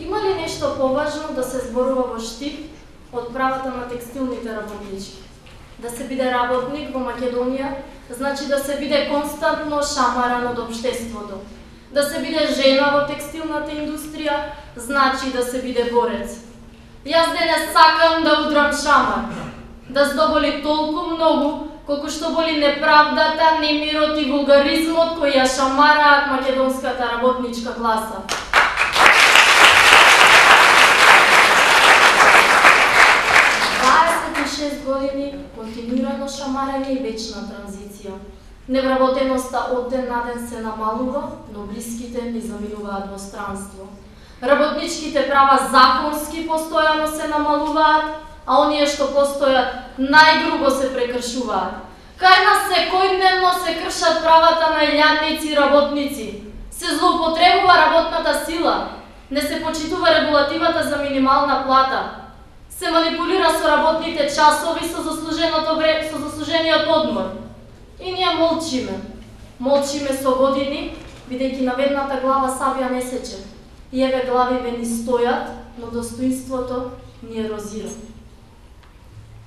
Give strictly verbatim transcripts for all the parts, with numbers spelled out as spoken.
Има ли нешто поважно да се зборува во Штип од правата на текстилните работнички? Да се биде работник во Македонија значи да се биде константно шамаран од општеството. Да се биде жена во текстилната индустрија значи да се биде борец. Јас денес сакам да удрам шамар, да здоболи толку многу колку што боли неправдата, немирот и вулгаризмот кои ја шамараат македонската работничка класа. дваесет и шест години континуирано шамарење и вечна транзиција. Невработеноста од ден на ден се намалува, но блиските ни заминуваат во странство. Работничките права законски постојано се намалуваат, а оние што постојат најгрубо се прекршуваат. Кај нас секојдневно се кршат правата на илјадници и работници. Се злоупотребува работната сила, не се почитува регулативата за минимална плата. Се манипулира со работните часови со заслуженото време, со заслужениот одмор. И ние молчиме. Молчиме со години, бидејќи наведната глава сабија не сече. И еве главиве ни стојат, но достоинството ни ерозира.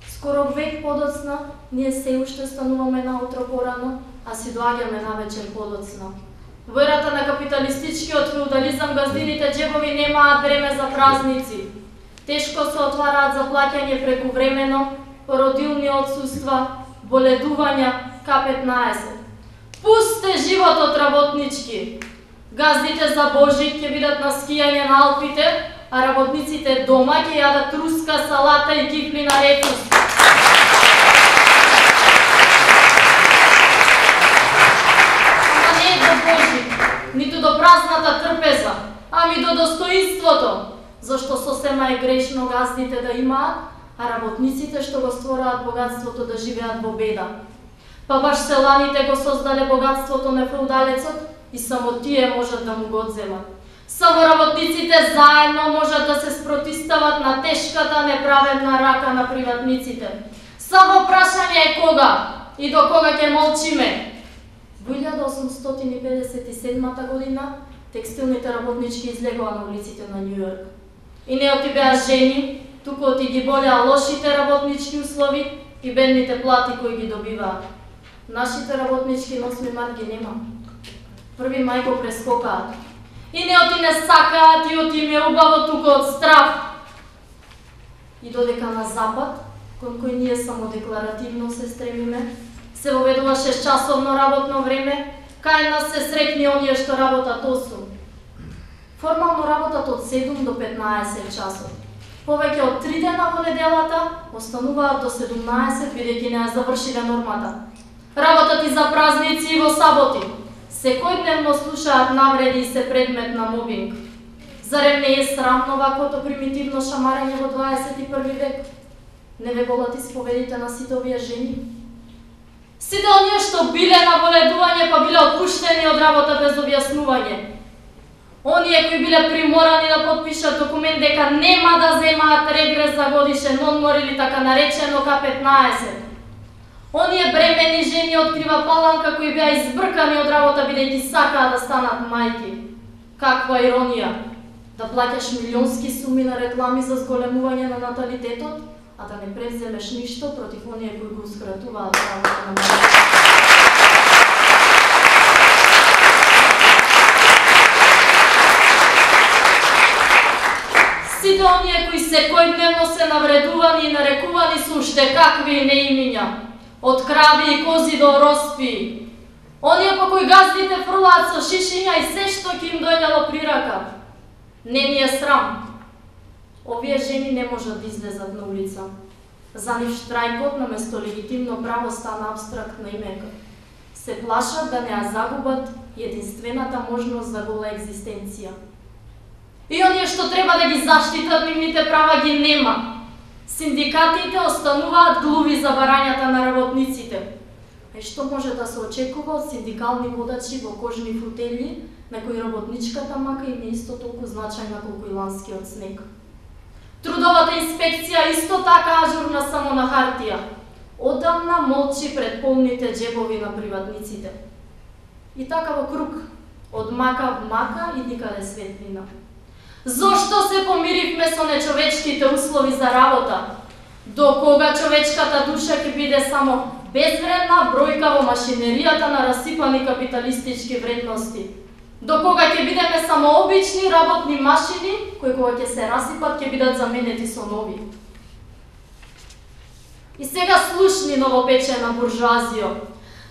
Скоро век подоцна, ние се уште стануваме наутро порано, а си доаѓаме навечер подоцна. Во ерата на капиталистичкиот феудализам газдините джебови немаат време за празници. Тешко се отвараат за плаќање прекувремено, породилни отсуства, боледувања, ка петнаесет. Пусте животот работнички! Газдите за Божик ќе бидат на скијање на Алпите, а работниците дома ќе јадат руска салата и кифли на рекус. Ама не до Божик, ниту до празната трпеза, ами до достоинството, зашто сосема е грешно газдите да имаат, а работниците што го створаат богатството да живеат во беда. Па баш селаните го создале богатството на феудалецот и само тие можат да му го одземат. Само работниците заедно можат да се спротистават на тешката неправедна рака на приватниците. Само прашање е кога и до кога ќе молчиме. Во илјада осумстотини педесет и седма година текстилните работнички излегоа на улиците на Њу Јорк. И не оти беа жени, туку оти ги болеа лошите работнички услови и бедните плати кои ги добиваат. Нашите работнички на осми март ги нема. Први мај го прескокаат. И не оти не сакаат и оти им е убаво туку од страв. И додека на запад, кон кој ние само декларативно се стремиме, се воведува шестчасовно работно време, кај нас се срекни оние што работат осум. Формално работат од седум до петнаесет часот. Повеќе од три дена во неделата остануваат до седумнаесет, бидејќи не ја завршиле нормата. Работат и за празници и во саботи. Секојдневно слушаат навреди и се предмет на мобинг. Зарем не е срамно ваквото примитивно шамарење во дваесет и први век? Не ве болат исповедите на сите овие жени? Сите оние што биле на боледување па биле отпуштени од работа без објаснување. Оние кои биле приморани да потпишат документ дека нема да земаат регрес за годишен одмор или така наречено ка петнаесет. Оние бремени жени од Крива Паланка кои беа избркани од работа бидејќи сакаа да станат мајки. Каква иронија! Да плаќаш милионски суми на реклами за зголемување на наталитетот, а да не превземеш ништо против оние кои гоускратуваат правото на мајки. Сите оние кои секојдневно се навредувани и нарекувани со уште какви неимиња, од крави и кози до роспи. Оние по кои газдите фрлаат со шишиња и се што ќе им дојдело при рака. Не ни е срам. Овие жени не можат да излезат на улица. За нив штрајкот наместо легитимно право стана абстрактна имека. Се плашат да не ја загубат единствената можност за гола екзистенција. И оние што треба да ги заштитат нивните права ги нема. Синдикатите остануваат глуви за барањата на работниците. А што може да се очекува од синдикални водачи во кожни футели, на кои работничката мака им е исто толку значајна колку и ланскиот снег? Трудовата инспекција исто така ажурна само на хартија. Одамна молчи пред полните джебови на приватниците. И така во круг, од мака в мака и никаде светлина. Зошто се помиривме со нечовечките услови за работа? До кога човечката душа ќе биде само безвредна бројка во машинеријата на расипани капиталистички вредности? До кога ќе бидеме само обични работни машини, кои кога ќе се расипат ќе бидат заменети со нови? И сега слушни новопечена буржуазио,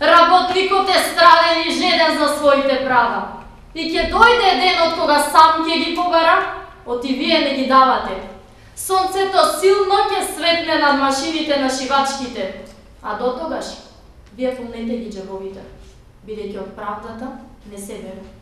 работникот е страден и жеден за своите права. И ќе дојде денот кога сам ќе ги побара, оти вие не ги давате. Сонцето силно ќе светне над машините на шивачките, а до тогаш вие полнете ги џебовите, бидејќи од правдата не се бере.